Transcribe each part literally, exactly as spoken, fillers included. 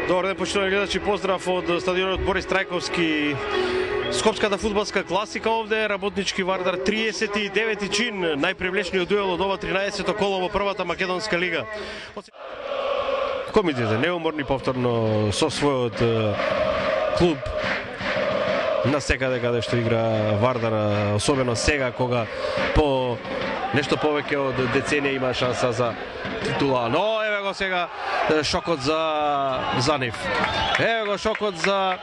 Добар ден, почитувани гледачи, поздрав од стадионот Борис Трајковски. Скопската фудбалска класика овде, Работнички Вардар триесет и девети чин, најпривлечниот дуел од ова тринаесето коло во првата македонска лига. Комитите неуморни повторно со својот клуб на секаде каде што игра Вардар, особено сега кога по нешто повеќе од деценија има шанса за титула. Но еве го сега шокот за за нив. Еве го шокот за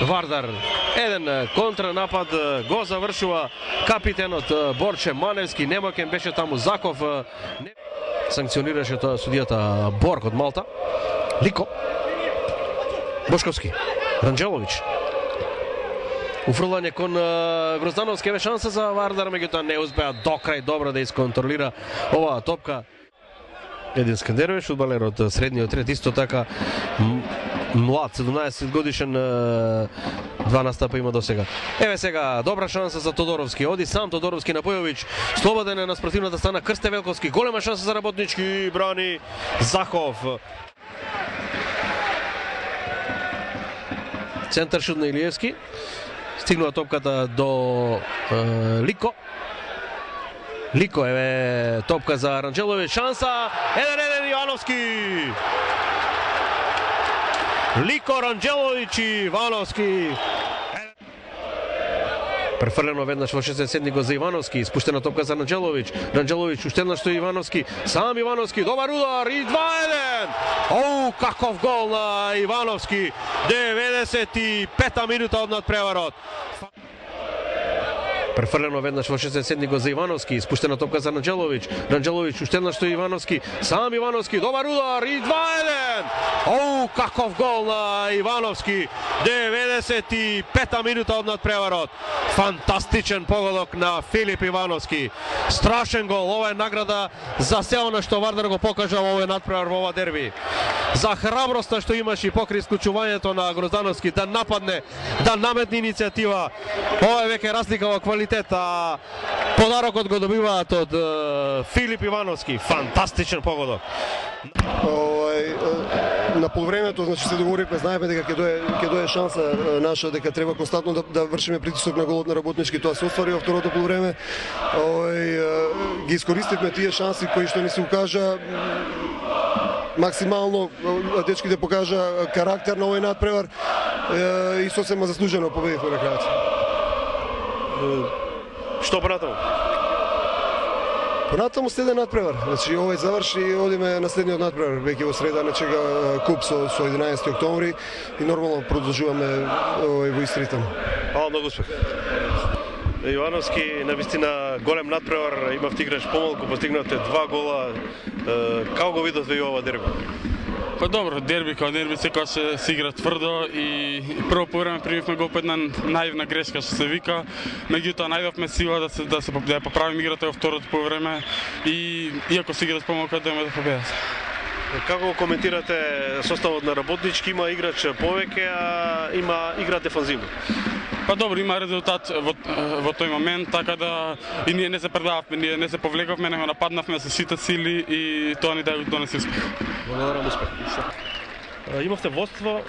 Вардар. Еден контранапад го завршува капитенот Борче Маневски. Немоќен беше таму Заков. Санкционираше тоа судијата Борг од Малта. Лико. Бошковски. Ранџелович. Уфрлање кон Гроздановски, еве шанса за Вардар, меѓутоа не успеа до крај добро да исконтролира оваа топка. Един Скандерович, фудбалер од средниот ред, исто така млад, седумнаесет годишен, два настапа има до сега. Еве сега добра шанса за Тодоровски. Оди сам Тодоровски на Појович. Слободен е на спротивната страна Крсте Велковски. Голема шанса за Работнички, брани Захов. Центар шут на Илиевски. Стигнува топката до е, Лико. Лико, еве топка за Ранџелович, шанса, еден еден Ивановски. Лико, Ранџелович и Ивановски. Префрлено веднаш во шестдесет седми за Ивановски, спуштена топка за Ранџелович. Ранџелович уште што Ивановски, сам Ивановски, добар удар и два еден. Оу, каков гол на Ивановски. деветдесет и пета минута од надпреварот. Префрлено веднаш во шестдесет седми за Ивановски, спуштена топка за Ранџелович. Ранџелович уште што Ивановски, сам Ивановски, добар удар и два еден. Оу, каков гол на Ивановски. деветдесет и пета минута од надпреварот. Фантастичен погодок на Филип Ивановски. Страшен гол, ова е награда за се она што Вардар го покажа во овој надпревар, во ова дерби. За храброста што имаше и покрај исклучувањето на Гроздановски да нападне, да наметне иницијатива. Ова е веќе разлика во квалитет. А подарокот го добиваат од uh, Филип Ивановски. Фантастичен погодок. Ой, на полувремето, значи се договоривме, знаеме дека ќе дое ќе дое шанса наша, дека треба константно да, да вршиме притисок на голот на Работнички. Тоа се оствари во второто полувреме. Ой, ги искористивме тие шанси кои што ни се укажа. Максимално дечките покажа карактер на овој надпревар и сосема заслужено победивме на крајот. Што понатаму? Понатаму следен надпревар. Значи овој заврши и одиме на следниот надпревар. Веќе во среда не чека куп со, со единаесети октомври и нормално продолжуваме овој во ист ритм. Ало, многу успех. Ивановски, навистина голем надпревар, имавте играч помалку, постигнавте два гола. Како го видовте и ова дерби? Па добро, дерби као дерби секогаш се, се игра тврдо и, и прво по време примивме гол по една наивна грешка што се вика, меѓутоа најдовме сила да се да се да поправиме играта во второто по време и иако се игра с помалку дојме до победа. Како го коментирате составот на Работнички? Има играч повеќе, а има игра дефанзивно. Па добро, има резултат во, во тој момент, така да и ние не се предававме, ние не се повлековме, него нападнавме со сите сили и тоа ни донесе успех. Благодарам, успех. Имавте водство,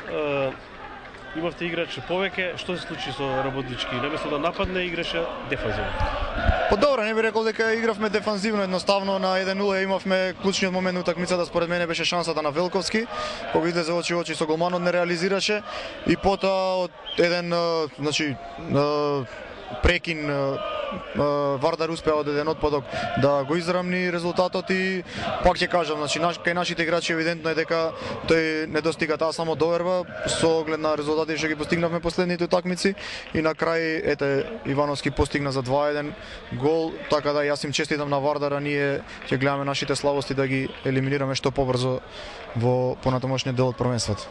имавте играч повеќе, што се случи со Работнички? Наместо да нападне, играше дефанзивно. Па добро, не би рекол дека игравме дефанзивно, едноставно на еден нула имавме клучниот момент на утакмицата, според мене беше шансата на Велковски, кога излезе очи очи со голманот, не реализираше и потоа од еден, значи, прекин Вардар успеа од еден отпадок да го израмни резултатот и пак ќе кажам, значи кај нашите играчи евидентно е дека тој не достига таа само доверба со оглед на резултати што ги постигнавме последните утакмици и на крај ете Ивановски постигна за два еден гол, така да јас им честитам на Вардар, а ние ќе гледаме нашите слабости да ги елиминираме што побрзо во понатамошниот дел од првенството.